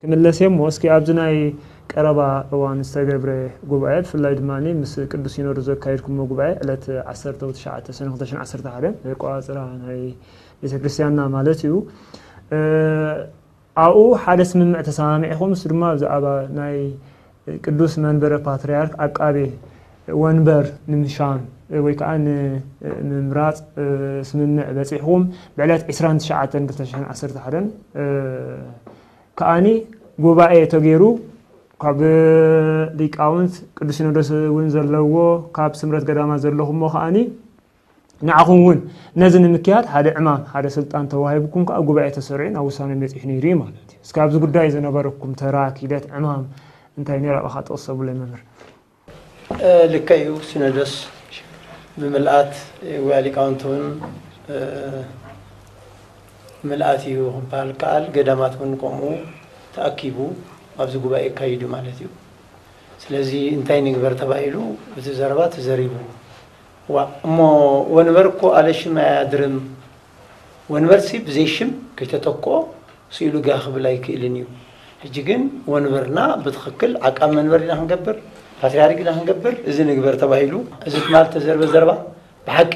ክምለስ እየ እሞ፣ እስኪ ኣብዚ ናይ ቀረባ እዋን ዝተገብረ ጉባኤ፣ ብፍላይ ድማ ምስ ቅዱስ ሲኖዶስ ዘካየድኩሞ ጉባኤ፣ ዕለት ዓሰርተ ትሽዓተ ሰነ ክልተ ሽሕን ዓሰርተ ሓደን ኣቆጻጽራ ናይ ቤተ ክርስቲያንና ማለት እዩ። እ፣ ኣብኡ ሓደ ስምምዕ ተሰማሚዕኹም፣ እሱ ድማ ብዛዕባ ናይ ቅዱስ መንበረ ፓትርያርክ ዓቃቤ ወንበር ንምሻም ወይ ከዓ ንምምራፅ ስምምዕ በፂሕኹም። ብዕለት ዕስራን ትሽዓተን ክልተ ሽሕን ዓሰርተ ሓደን ከዓኒ ጉባኤ ተገይሩ፣ ካብ ሊቃውንት ቅዱስ ሲኖዶስ እውን ዘለዎ፣ ካብ ስምረት ገዳማት ዘለኹሞ ከዓኒ ንዓኹም እውን ነዚ ንምክያድ ሓደ ዕማም፣ ሓደ ስልጣን ተዋሂብኩም ከዓ ጉባኤ ተሰሪዑ ናብ ውሳነ በፂሑ ነይሩ እዩ ማለት እዩ። እስኪ ኣብዚ ጉዳይ ዝነበረኩም ተራ፣ ኪደት፣ ዕማም እንታይ ነይሩ? ኣብኻ ጥቕስ ተብለይ መምህር። ልክዕ እዩ። ሲኖዶስ ብምልኣት ወይ ሊቃውንቲ እውን ምልኣት እዩ ክበሃል ከኣል፣ ገዳማት እውን ከምኡ ተኣኪቡ ኣብዚ ጉባኤ የካይዱ ማለት እዩ። ስለዚ እንታይ ንግበር ተባሂሉ እቲ ዘረባ ተዘሪቡ። ዋ እሞ ወንበር እኮ ኣለ ሽም ኣያድርም። ወንበር ሲ ብዘይ ሽም ከይተተክኦ ስኢሉ ጋህ ክብል ኣይክእልን እዩ። ሕጂ ግን ወንበርና ብትኽክል ዓቃብ መንበር ኢና ክንገብር፣ ፓትርያርክ ኢና ክንገብር፣ እዚ ንግበር ተባሂሉ። እዚ ትማል ተዘርበ ዘረባ ብሓቂ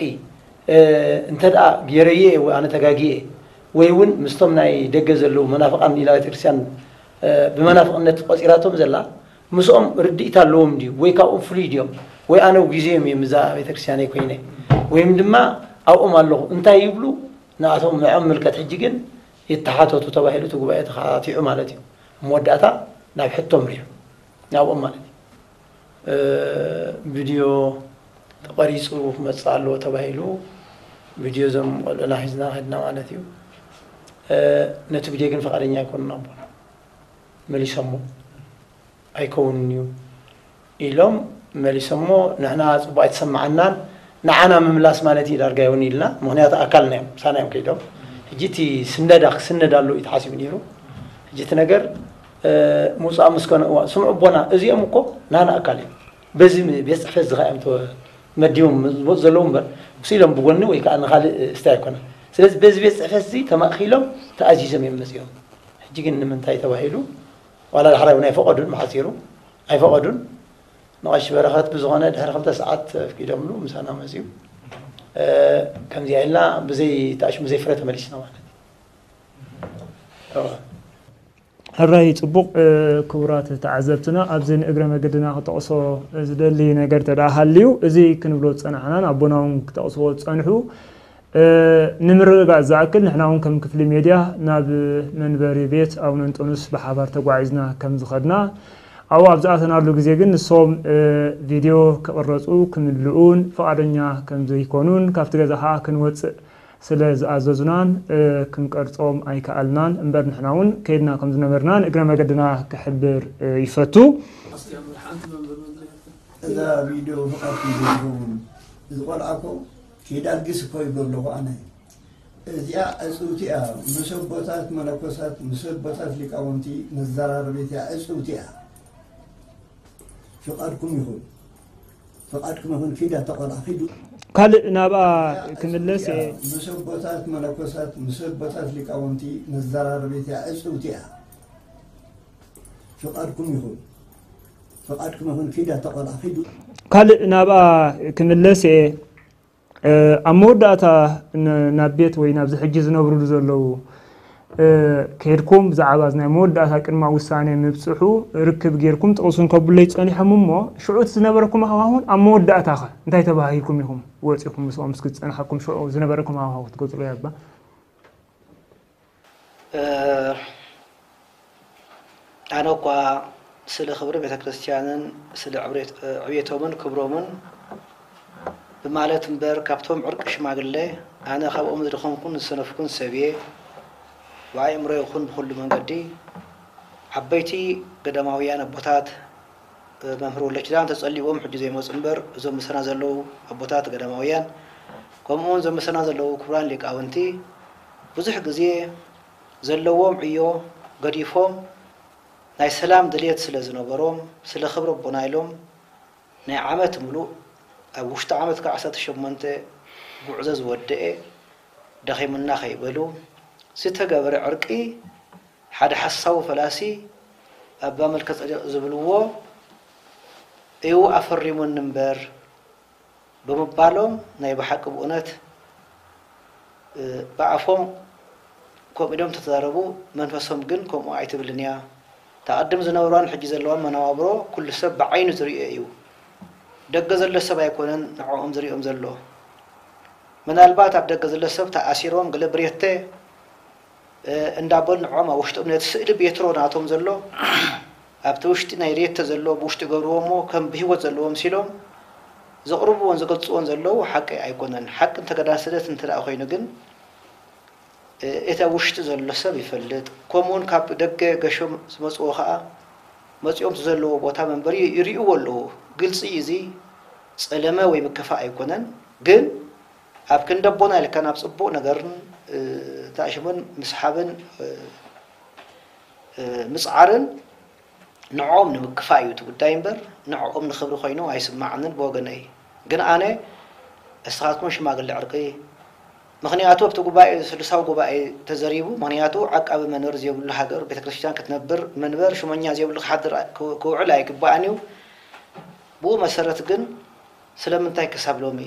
እንተ ደኣ ገይረዮ እየ ወይ ኣነ ተጋግየ ወይ እውን ምስቶም ናይ ደገ ዘለዉ መናፍቓን ኢላ ቤተክርስትያን ብመናፍቕነት ቆፂራቶም ዘላ ምስኦም ርድኢት ኣለዎም ድዩ ወይ ካብኦም ፍሉይ ድዮም ወይ ኣነ ውጊዘዮም እዮም እዛ ቤተክርስትያነይ ኮይነ ወይም ድማ ኣብኦም ኣለኹ እንታይ ይብሉ ንኣቶም ንዕኦም ምልከት ሕጂ ግን ይተሓተቱ ተባሂሉ እቲ ጉባኤ ተኻቲዑ ማለት እዩ። መወዳእታ ናብ ሕቶ ምሪሑ ናብኦም ማለት እዩ። ቪድዮ ተቐሪፁ ክመፅእ ኣለዎ ተባሂሉ ቪድዮ እዞም ቆልዑና ሒዝና ከድና ማለት እዩ። ነቲ ቪድዮ ግን ፈቃደኛ ኣይኮኑን ኣቦና መሊሶሞ ኣይከውንን እዩ ኢሎም መሊሶሞ ንሕና ፅቡቅ ኣይተሰማዓናን ንዓና ምምላስ ማለት እዩ ዳርጋ ይውን ኢልና ምክንያቱ ኣካልና እዮም ምሳና እዮም ከይዶም ሕጂ እቲ ስነዳ ክስነድ ኣሎ እዩ ተሓሲቡ ነይሩ ሕጂ እቲ ነገር ምውፃእ ምስ ኮነ እዋ ስምዑ ኣቦና እዚኦም እኮ ናና ኣካል እዮም በዚ ቤት ፅሕፈት እዚ ከዓ እዮም መዲቦም ዝመፁ ዘለዉ እምበር ስኢሎም ብጎኒ ወይ ከዓ ንካልእ ስታይ ኣይኮነ ስለዚ በዚ ቤት ፅሕፈት እዚ ተማእኪሎም ተኣዚዞም እዮም መፂኦም ሕጂ ግን ንምንታይ ተባሂሉ ዋላ ዳሕራይ እውን ኣይፈቐዱን ብሓፂሩ ኣይፈቐዱን ንቐሺ በረኸት ብዝኾነ ድሕሪ ክልተ ሰዓት ኣፍቂዶምሉ ምሳና መፅኡ ከምዚኣ ኢልና ብዘይ ተኣሽሙ ዘይፍረ ተመሊስና ማለት እዩ ሕራይ ፅቡቕ ክቡራት ተዓዘብትና ኣብዚ ንእግረ መገድና ክጠቕሶ ዝደሊ ነገር ተደኣ ሃልዩ እዚ ክንብሎ ዝፀናሕናን ኣቦና እውን ክጠቕስዎ ዝፀንሑ ንምርግጋፅ ዝኣክል ንሕና እውን ከም ክፍሊ ሜድያ ናብ መንበሪ ቤት ኣቡነ እንጦንስ ብሓባር ተጓዒዝና ከም ዝኸድና ኣብኡ ኣብ ዝኣተናሉ ግዜ ግን ንሶም ቪድዮ ክቕረፁ ክምልኡን ፍቓደኛ ከም ዘይኮኑን ካብቲ ገዛ ከዓ ክንወፅእ ስለ ዝኣዘዙናን ክንቀርፆም ኣይከኣልናን እምበር ንሕና እውን ከይድና ከም ዝነበርና ንእግረ መገድና ክሕብር ይፈቱ። እዛ ቪድዮ ፍቓድ ዘይትኸውን እዚ ቆልዓ እኮ ከይዳግስ እኮ ይብሎ ኣለኹ ኣነ እዚኣ ዕፅውቲ እያ ምስ ኣቦታት መነኮሳት ምስ ኣቦታት ሊቃውንቲ መዘራረቢት እያ ዕፅውቲ እያ ፍቓድኩም ይኹን ፍቓድኩም ይኹን ኪድ ኣታ ቆልዓ ኪዱ ካልእ ናብኣ ክምለስ እየ ምስ ኣቦታት መነኮሳት ምስ ኣቦታት ሊቃውንቲ መዘራረቢት እያ ዕፅውቲ እያ ፍቓድኩም ይኹን ፍቓድኩም ይኹን ኪድ ኣታ ቆልዓ ኪዱ ካልእ ናብኣ ክምለስ እየ ኣብ መወዳእታ ናብ ቤት ወይ ናብዚ ሕጂ ዝነብርሉ ዘለዉ ከድኩም ብዛዕባ ናይ መወዳእታ ቅድማ ውሳኔ ምብፅሑ ርክብ ጌርኩም ጥቕሱን ከብለይ ፀኒሖም እሞ ሽዑ እቲ ዝነበረኩም ሃዋሁን ኣብ መወዳእታ ኸ እንታይ ተባሂልኩም ኢኹም ወፂኹም ምስኦም እስኪ ዝፀናሓኩም ሽዑ ዝነበረኩም ሃዋሁ ክትገልፅሉ ያባ ኣነ እኳ ስለ ክብሪ ቤተ ክርስቲያንን ስለ ዕብየቶምን ክብሮምን ብማለት እምበር ካብቶም ዕርቂ ሽማግለ ኣነ ካብኦም ዝደኸምኩን ዝሰነፍኩን ሰብ እየ። ብኣእምሮ ይኹን ብኹሉ መንገዲ ዓበይቲ ገዳማውያን ኣቦታት መምህር ወልደኪዳን ተጸሊዎም ሕጂ ዘይመጹ እምበር እዞም ምሳና ዘለዉ ኣቦታት ገዳማውያን ከምኡውን እዞም ምሳና ዘለዉ ክቡራን ሊቃውንቲ ብዙሕ ግዜ ዘለዎም ዕዮ ገዲፎም ናይ ሰላም ድልየት ስለ ዝነበሮም ስለ ክብሪ ኣቦና ኢሎም ናይ ዓመት ምሉእ ኣብ ውሽጢ ዓመት ከዓ ዓሰርተ ሸሞንተ ጉዕዞ ዝወደኤ ደኺሙና ከይበሉ ዝተገበረ ዕርቂ ሓደ ሓሳዊ ፈላሲ ኣባ መልከ ጸዴቕ ዝብልዎ እዩ ኣፈሪሙኒ እምበር ብምባሎም ናይ ብሓቂ ብእውነት ብኣፎም ከምኡ ኢሎም ተተዛረቡ መንፈሶም ግን ከምኡ ኣይትብልን እያ። ተቐድም ዝነበሯን ሕጂ ዘለዋን መነባብሮ ኩሉ ሰብ ብዓይኑ ዝርእዮ እዩ። ደገ ዘሎ ሰብ ኣይኮነን ንዕኦም ዝርእዮም ዘሎ። ምናልባት ኣብ ደገ ዘሎ ሰብ ተኣሲሮም ገለ ብሬተ እንዳበሉ ንዕኦም ኣብ ውሽጦም ነቲ ስእሊ ቤትሮ ናቶም ዘሎ ኣብቲ ውሽጢ ናይ ሬተ ዘሎ ብውሽጢ ገብርዎ እሞ ከም ብህይወት ዘለዎ ምሲሎም ዘቕርብዎን ዝገልፅዎን ዘለዉ ሓቂ ኣይኮነን። ሓቂ እንተገዳስደት እንተ ደኣ ኮይኑ ግን እቲ ኣብ ውሽጢ ዘሎ ሰብ ይፈልጥ። ከምኡውን ካብ ደገ ገሾም ዝመፅዎ ከዓ መፂኦም ዘለዎ ቦታ መንበሪ ይርእዎ ኣለዉ። ግልፂ እዩ እዚ ጸለመ ወይ ምክፋእ ኣይኮነን። ግን ኣብ ክንዲ ኣቦና ኢልካ ናብ ጽቡቕ ነገርን ተኣሽሙን ምስሓብን ምጽዓርን ንዕኦም ንምክፋእ እዩ እቲ ጉዳይ እምበር ንዕኦም ንኽብሪ ኮይኑ ኣይስማዓንን ብወገነይ። ግን ኣነ እስኻትኩም ሽማግለ ዕርቂ ምኽንያቱ ኣብቲ ጉባኤ ስሉሳዊ ጉባኤ ተዘሪቡ ምኽንያቱ ዓቃቢ መንበር ዘይብሉ ሃገር ቤተክርስትያን ክትነብር መንበር ሽመኛ ዘይብሉ ክሓድር ክውዕል ኣይግባእን እዩ። ብኡ መሰረት ግን ስለምንታይ ክሳብ ሎሚ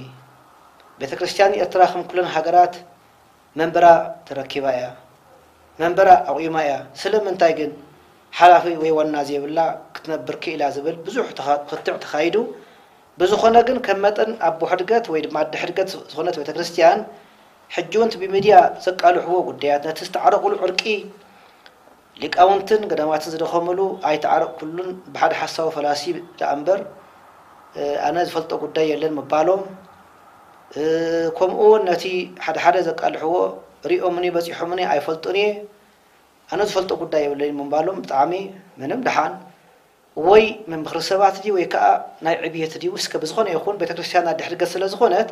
ቤተክርስትያን ኤርትራ ከም ኩለን ሃገራት መንበራ ተረኪባ እያ መንበራ ኣቑማ እያ። ስለምንታይ ግን ሓላፊ ወይ ዋና ዘይብላ ክትነብር ክኢላ ዝብል ብዙሕ ክትዕ ተኻይዱ። ብዝኾነ ግን ከም መጠን ኣቦ ሕድገት ወይ ድማ ኣደ ሕድገት ዝኾነት ቤተክርስትያን ሕጂ እውን ብሚድያ ዘቃልሕዎ ጉዳያት ነቲ ዝተዓረቑሉ ዕርቂ ሊቃውንትን ገዳማትን ዝደኸምሉ ኣይተዓረቕኩሉን ብሓደ ሓሳዊ ፈላሲ ደኣ እምበር ኣነ ዝፈልጦ ጉዳይ የለን ምባሎም ከምኡ እውን ነቲ ሓደ ሓደ ዘቃልሕዎ ሪኦምኒ በፂሖምኒ ኣይፈልጡን እየ ኣነ ዝፈልጦ ጉዳይ የብለይ ምባሎም ብጣዕሚ ምንም ደሓን ወይ ምምኽሪ ሰባት ድዩ ወይ ከዓ ናይ ዕብየት ድዩ እስከ ብዝኾነ ይኹን ቤተክርስትያና ድሕድገት ስለ ዝኾነት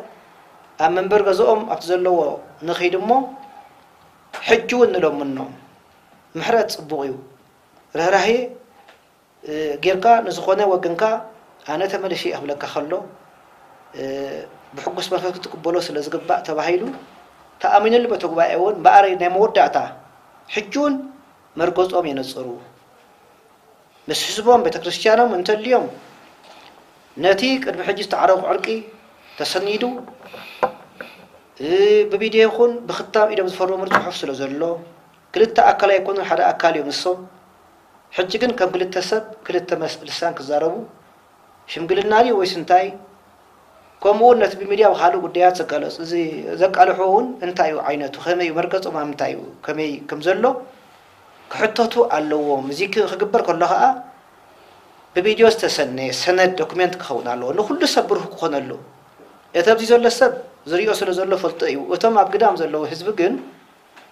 ኣብ መንበር ገዝኦም ኣብቲ ዘለዎ ንኸይድ እሞ ሕጂ እውን ንለምኖም ምሕረት ፅቡቕ እዩ ርህራሄ ጌርካ ንዝኾነ ወገንካ ኣነ ተመልሼ እየ ክብለካ ከሎ ብሕጉስ መንፈስ ክትቅበሎ ስለ ዝግባእ ተባሂሉ ተኣሚኑሉ በቲ ጉባኤ እውን እምበኣር ናይ መወዳእታ ሕጂ እውን መርገጾም የነጽሩ። ምስ ህዝቦም ቤተክርስትያኖም እንተልዮም ነቲ ቅድሚ ሕጂ ዝተዓረቑ ዕርቂ ተሰኒዱ ብቪድዮ ይኹን ብክታም ኢዶም ዝፈረሙሉ ፅሑፍ ስለ ዘሎ ክልተ ኣካል ኣይኮኑን ሓደ ኣካል እዮም ንሶም ሕጂ ግን ከም ክልተ ሰብ ክልተ ልሳን ክዛረቡ ሽምግልና ድዩ ወይስ እንታይ ከምኡ እውን ነቲ ብሚድያ ብካልእ ጉዳያት ዘጋለፁ እዚ ዘቃልሑ እውን እንታይ እዩ ዓይነቱ ከመይ እዩ መርገፆም ኣብ ምንታይ እዩ ከመይ ከም ዘሎ ክሕተቱ ኣለዎም። እዚ ክግበር ከሎ ከዓ ብቪድዮ ዝተሰነየ ሰነድ ዶክሜንት ክኸውን ኣለዎ። ንኩሉ ሰብ ብሩህ ክኾነሉ እቲ ኣብዚ ዘሎ ሰብ ዝሪኦ ስለ ዘሎ ፈልጦ እዩ። እቶም ኣብ ግዳም ዘለዉ ህዝቢ ግን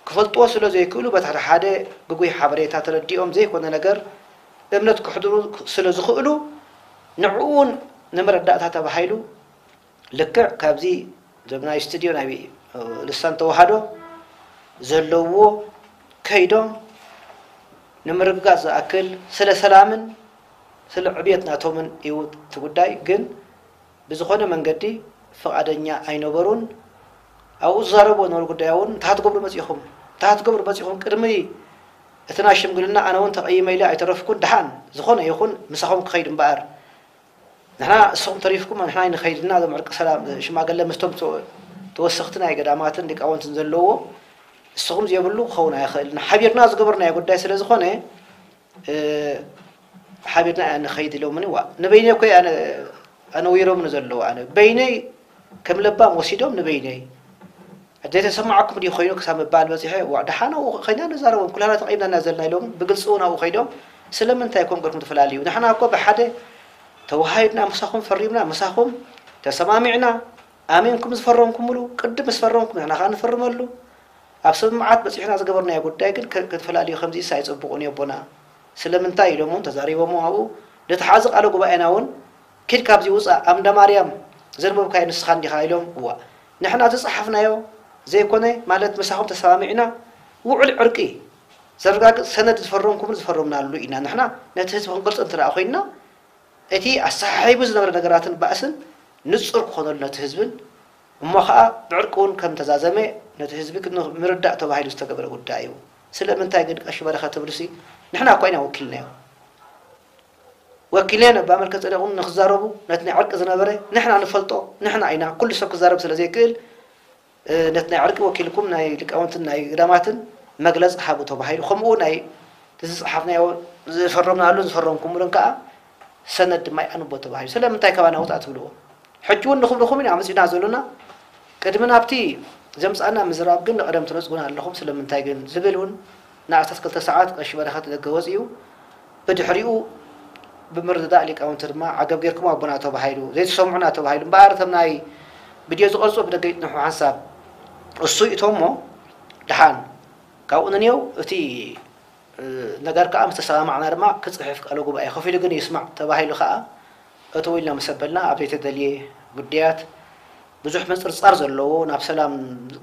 ክፈልጥዎ ስለ ዘይክእሉ በቲ ሓደ ሓደ ግጉይ ሓበሬታ ተረዲኦም ዘይኮነ ነገር እምነት ክሕድሩ ስለ ዝኽእሉ ንዕኡ እውን ንመረዳእታ ተባሂሉ ልክዕ ካብዚ ዞም ናይ ስቱድዮ ናይ ልሳን ተዋህዶ ዘለዎ ከይዶም ንምርግጋፅ ዝኣክል ስለ ሰላምን ስለ ዕብየት ናቶምን እዩ እቲ ጉዳይ ግን ብዝኾነ መንገዲ ፍቓደኛ ኣይነበሩን። ኣብኡ ዝዛረብዎ ዝነበሩ ጉዳይ እውን እንታይ ትገብሩ መፂኹም እንታይ ትገብሩ መፂኹም ቅድሚ እቲ ናይ ሽምግልና ኣነ እውን ተቐይመ ኢለ ኣይተረፍኩን ደሓን ዝኾነ ይኹን ምሳኹም ክኸይድ እምበኣር ንሕና እስኹም ተሪፍኩም ንሕና ንኸይድና እዞም ዕርቂ ሰላም ሽማገለ ምስቶም ተወሰኽቲ ናይ ገዳማትን ሊቃውንትን ዘለዎ እስኹም ዘይብሉ ክኸውን ኣይኽእልን ሓቢርና ዝገበርናዮ ጉዳይ ስለ ዝኾነ ሓቢርና እያ ንኸይድ ኢሎምኒ ዋ ንበይነይ እኮ ኣነዊሮምኒ ዘለዉ ኣነ በይነይ ከም ለባም ወሲዶም ንበይነይ ዘይተሰማዓኩም ድዩ ኮይኑ ክሳብ ምባል በፂሐ ዋ ደሓን ኣብኡ ኮይና ንዛረቦም ኩላና ተቐይምና ኢና ዘለና ኢሎም ብግልፂ እውን ኣብኡ ከይዶም ስለምንታይ ከም ገርኩም ትፈላለዩ ንሕና እኮ ብሓደ ተወሃሂድና ምሳኹም ፈሪምና ምሳኹም ተሰማሚዕና ኣሚንኩም ዝፈረምኩምሉ ቅድም ምስ ፈረምኩም ንሕና ከዓ ንፍርመሉ ኣብ ስምምዓት በፂሕና ዝገበርናዮ ጉዳይ ግን ክትፈላልዩ ከምዚስ ኣይፅቡቕን እዩ ኣቦና ስለምንታይ ኢሎም እውን ተዛሪቦም ኣብኡ ነቲ ሓዚ ቃለ ጉባኤና እውን ኪድ ካብዚ ውፃእ ኣምደ ማርያም ዘንበብካዮ ንስኻ እንዲኻ ኢሎም እዋ ንሕና ዝፀሓፍናዮ ዘይኮነ ማለት ምሳኹም ተሰማሚዕና ውዕል ዕርቂ ዘረጋግፅ ሰነድ ዝፈረምኩምን ዝፈረምናሉ ኢና ንሕና ነቲ ህዝቢ ክንገልፆ እንተ ኮይንና እቲ ኣሰሓሒቡ ዝነበረ ነገራትን ባእስን ንፁር ክኾነሉ ነቲ ህዝብን እሞ ከዓ ብዕርቂ እውን ከም ተዛዘመ ነቲ ህዝቢ ምርዳእ ተባሂሉ ዝተገበረ ጉዳይ እዩ። ስለምንታይ ግን ቀሺ በረኸት ትብልሲ? ንሕና እኳ ኢና ወኪልናዮ። ወኪልናዮ ነባ መልከ ጸደቕን ንክዛረቡ፣ ነቲ ናይ ዕርቂ ዝነበረ ንሕና ንፈልጦ፣ ንሕና ኢና፣ ኩሉ ሰብ ክዛረብ ስለ ዘይክእል፣ እ፣ ነቲ ናይ ዕርቂ ወኪልኩም ናይ ሊቃውንትን ናይ ገዳማትን መግለጺ ሃቡ ተባሂሉ። ከምኡ ናይ ዝጸሓፍናዮ ዝፈረምናሉን ዝፈረምኩምሉን ከኣ ሰነድ ድማ ይኣንቦ ተባሂሉ። ስለምንታይ ካባና ውጻእ ትብልዎ? ሕጂ እውን ንኽብልኹም ኢና መጺእና ዘሎና። ቅድሚ ናብቲ ዘምጻና ምዝራብ ግን ንቐደም ትነጽጉና ኣለኹም። ስለምንታይ ግን ዝብል እውን ንኣስታት ክልተ ሰዓት ቀሺ በረኸት ደገ ወጺኡ። ብድሕሪኡ ብምርድዳእ ሊቃውንቲ ድማ ዓገብ ጌርኩም ኣቦና ተባሂሉ፣ ዘይትሰምዑና ተባሂሉ። እምበኣር እቶም ናይ ቪድዮ ዝቐርጹ ብደገ ይጽንሑ ሓንሳብ እሱ ይእቶሞ። ደሓን ካብኡ ንንየው እቲ፣ እ፣ ነገር ከኣ ምስ ተሰማማዕና ድማ ክጽሕፍ ቃለ ጉባኤ ከፊሉ ግን ይስማዕ ተባሂሉ ከኣ እተው ኢልና ምስ ኣበልና ኣብ ዘይተደልየ ጉዳያት ብዙሕ ምጽርጻር ዘለዎ ናብ ሰላም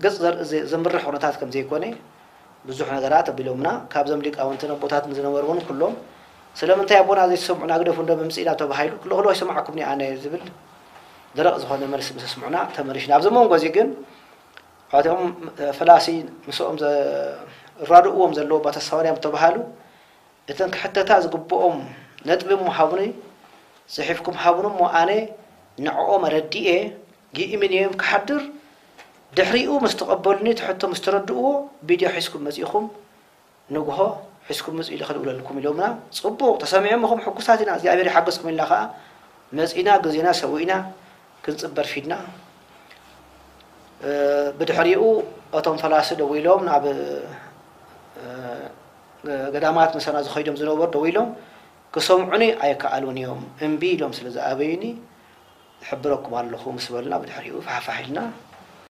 ገጽ ዘር-፣ ዘ-፣ ዘምርሕ ኩነታት ከም ዘይኮነ ብዙሕ ነገራት ኣቢሎምና። ካብዞም ሊቃውንትን ኣቦታትን ዝነበሩ እውን ኩሎም ስለምንታይ ኣቦና ዘይትሰምዑና ግደፉ እንዶ ምምጽእና ተባሂሉ ክልኽሎ ይሰማዕኩም ኣነ ዝብል ደረቕ ዝኾነ መልሲ ምስ ኣስምዑና ተመሊሽና። ኣብዚ መንጎ እዚ ግን እቶም ፈላሲ ምስኦም ዘራድእዎም ዘለዉ ኣባ ተስፋማርያም ዝተባሃሉ እተን ክሕተታ ዝግብኦም ነጥቢ እሞ ሃቡኒ፣ ጽሒፍኩም ሃቡኒ እሞ ኣነ ንዕኦም ኣረዲኤ ይእምን እየ ክሓድር፣ ድሕሪኡ ምስ ተቐበሉኒ እቲ ሕቶ ምስ ተረድእዎ ቪድዮ ሒዝኩም መጺእኹም ንግሆ ሒዝኩም ምጹ ኢለ ክድውለልኩም ኢሎምና። ጽቡቕ ተሰሚዖም ኢኹም ሕጉሳት ኢና እግዚኣብሔር ይሓግዝኩም ኢልና ከኣ መጺእና ግዜና ሰዊእና ክንጽበ ኣርፊድና። እ፣ ብድሕሪኡ እቶም ፈላሲ ደዊሎም ናብ፣ እ፣ ገዳማት ምሳና ዝኸይዶም ዝነበሩ ደዊሎም ክሰምዑኒ ኣይከኣሉን እዮም እምቢ ኢሎም ስለ ዝኣበዩኒ እሕብረኩም ኣለኹ ምስ በልና ብድሕሪኡ ፋሕፋሕ ኢልና